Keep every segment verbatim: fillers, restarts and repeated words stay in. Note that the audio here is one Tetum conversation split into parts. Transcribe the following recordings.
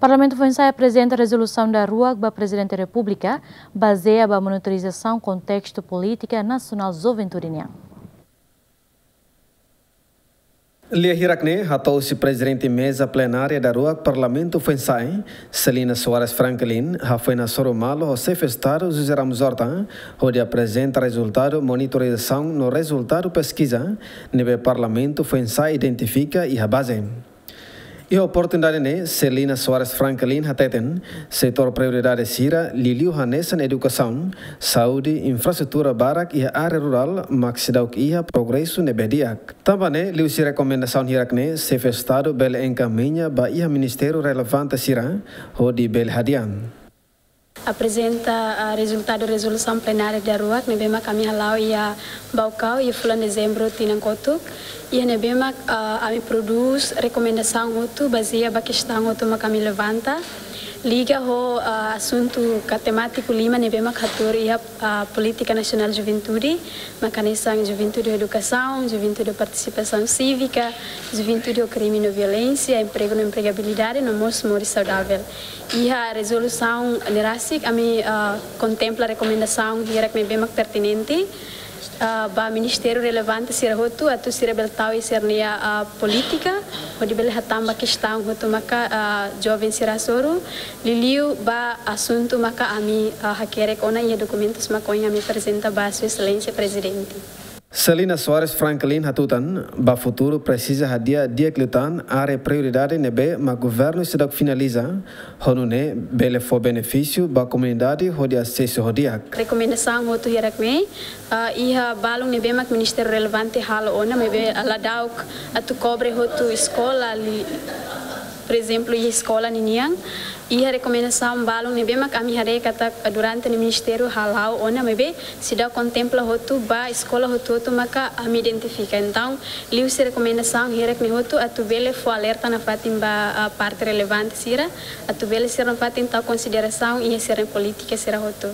Parlamentu Foinsa'e aprezenta rezolusaun daruak ba Prezidente Repúblika, bazeia ba monitorizasaun kontestu polítika nasionál juventude nian. Lia hirak ne'e hato'o husi Prezidente Meza Plenária daruak Parlamentu Foinsa'e, Celina Soares Franklin, hafoin hasoru malu ho Xefe Estadu José Ramos Horta, hodi aprezenta rezultadu monitorizasaun no rezultadu peskiza ne'ebé Parlamentu Foinsa'e identifika iha baze. Iha oportunidade ne'e, Celina Soares Franklin hateten, setór prioridade sira liuliu hanesan edukasaun, saúde, infraestrutura barak iha área rurál mak seidauk iha progresu ne'ebé di'ak. Tanba ne'e, liuhusi rekomendasaun hirak ne'e, Xefe Estadu bele enkamiña ba iha ministériu relevante sira, hodi bele hadi'a. Aprezenta, ah, rezultadu rezolusaun plenária daruak ne'ebé mak ami hala'o iha Baucau iha fulan Dezembru tinan kotuk. Iha ne'ebé mak, ah, ami prodús rekomendasaun hotu bazeia ba kestaun hotu mak ami levanta liga ho, ah, asuntu ka temátiku lima ne'ebé mak hatuur iha, ah, Polítika Nasionál Juventude, mak hanesan juventude edukasaun, juventude partisipasaun sívika, juventude ho krime no violénsia, empregu no empregabilidade, no mós moris saudavel. Iha rezolusaun ne'e rasik ami, ah, kontempla rekomendasaun hirak ne'ebé mak pertinente, ah, ba ministériu relevante sira hotu atu sira bele tau iha sira-nia, ah, polítika, hodi bele hatán ba kestaun hotu maka, ah, joven sira hasoru, liuliu ba asuntu maka ami, ah, hakerek ona iha dokumentus maka ohin ami aprezenta ba Sua Exelénsia Prezidente. Celina Soares Franklin hatutan, ba futuru presiza hadi'a di'ak liután área prioridade ne'ebé mak governu seidauk finaliza, ho nune'e bele fó benefísiu ba komunidade hodi asesu ho di'ak. Rekomendasaun hotu hirak ne'e, ah, iha balun ne'ebé mak ministériu relevante halo ona, maibé la da'uk atu kobre hotu eskola li-, por ezemplu, iha eskola ninian, iha rekomendasaun balun ne'ebé mak ami haree katak durante ne'e ministériu hala'o ona, maibé seidauk kontempla hotu ba eskola hotu-hotu maka ami identifika. Entaun, liuhusi rekomendasaun hirak ne'e hotu atu bele fó alerta nafatin ba, ah, parte relevante sira, atu bele sira nafatin tau konsiderasaun iha sira polítika sira hotu.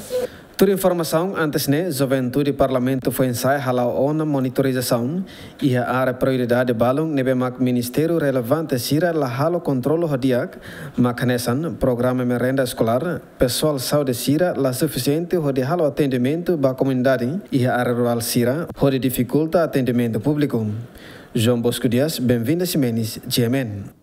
Tuir informasaun antes ne'e, juventude Parlamentu Foinsa'e hala'o ona monitorizasaun iha área prioridade balun ne'ebé mak ministériu relevante sira la halo kontrolu ho di'ak, mak hanesan programa merenda eskolár, pesoál saúde sira la sufisiente hodi halo atendimentu ba komunidade iha área rurál sira, hodi difikulta atendimentu públiku. João Bosco Dias, Benvinda Ximenes, G M N.